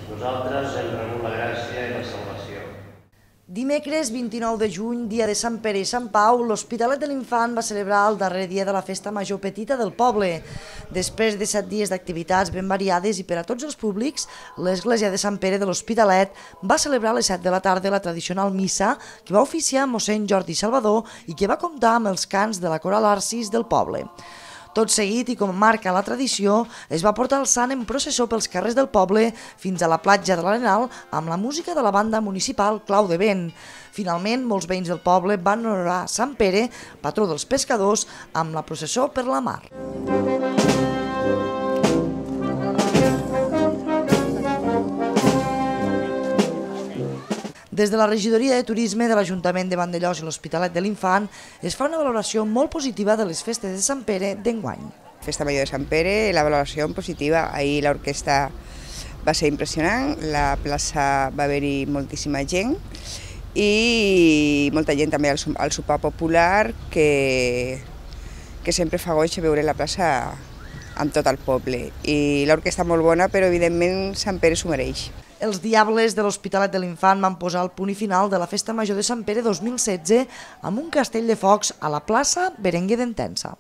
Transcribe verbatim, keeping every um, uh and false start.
Nosaltres hem rebut la gràcia i la salvació. Dimecres vint-i-nou de juny, dia de Sant Pere i Sant Pau, l'Hospitalet de l'Infant va celebrar el darrer dia de la festa major petita del poble. Després de set dies d'activitats ben variades i per a tots els públics, l'església de Sant Pere de l'Hospitalet va celebrar a les set de la tarda la tradicional missa que va oficiar mossèn Jordi Salvador i que va comptar amb els cants de la coral Arcis del poble. Tot seguit, i com marca la tradició, es va portar el sant en processó pels carrers del poble fins a la platja de l'Arenal amb la música de la banda municipal Clau de Vent. Finalment, molts veïns del poble van honorar Sant Pere, patró dels pescadors, amb la processó per la mar. Des de la regidoria de turisme de l'Ajuntament de Vandellòs i l'Hospitalet de l'Infant es fa una valoració molt positiva de les festes de Sant Pere d'enguany. Festa Major de Sant Pere, la valoració positiva. Ahir l'orquestra va ser impressionant, la plaça va haver-hi moltíssima gent i molta gent també al sopar popular que, que sempre fa goig veure la plaça amb tot el poble. I l'orquestra molt bona, però evidentment Sant Pere s'ho mereix. Els Diables de l'Hospitalet de l'Infant van posar el punt i final de la Festa Major de Sant Pere dos mil setze amb un castell de focs a la plaça Berenguer d'Entença.